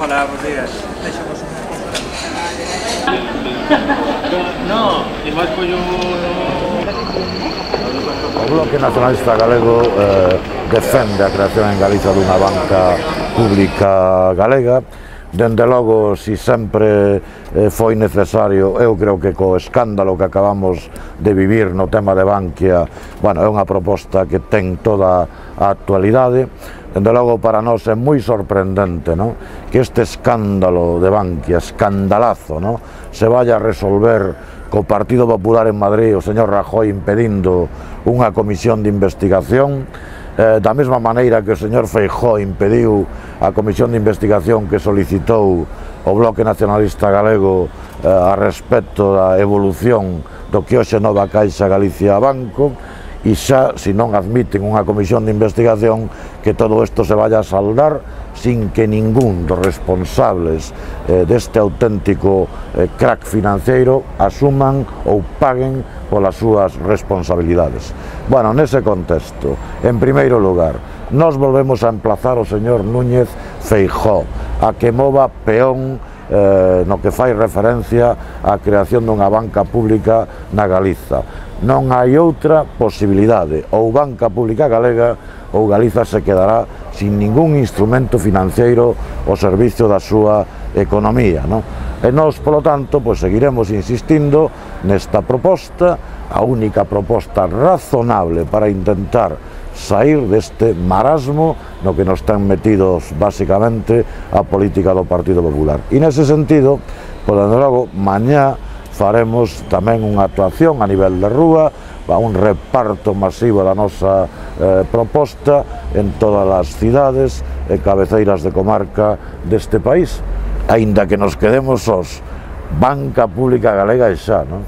Hola, buenos días. No, igual pollo O Bloque Nacionalista Galego defende a creación en Galiza dunha banca pública galega. Dende logo, si sempre foi necesario, eu creo que co escándalo que acabamos de vivir no tema de Bankia, bueno, é unha proposta que ten toda a actualidade. Dende logo, para nós é moi sorprendente, ¿no?, que este escándalo de Bankia, escandalazo, ¿no?, se vaya a resolver co Partido Popular en Madrid, o señor Rajoy impedindo unha comisión de investigación, da mesma maneira que o señor Feijóo impediu a comisión de investigación que solicitou o Bloque Nacionalista Galego a respecto da evolución do que hoxe Nova Caixa Galicia Banco, e xa, se non admiten unha comisión de investigación, que todo isto se vaya a saldar sin que ningún dos responsables deste auténtico crack financiero asuman ou paguen polas súas responsabilidades. Bueno, nese contexto, en primeiro lugar, nós volvemos a emplazar o señor Núñez Feijóo a que mova peón no que fai referencia á creación dunha banca pública na Galiza. Non hai outra posibilidade, ou banca pública galega ou Galiza se quedará sin ningún instrumento financiero ao servicio da súa economía, non? E nós, polo tanto, pois seguiremos insistindo nesta proposta, a única proposta razonable para intentar sair deste marasmo no que nos ten metidos basicamente a política do Partido Popular. E nese sentido, por dende logo, mañá faremos tamén unha actuación a nivel de rúa, un reparto masivo da nosa proposta en todas as cidades e cabeceiras de comarca deste país, aínda que nos quedemos sós. Banca pública galega e xa, non?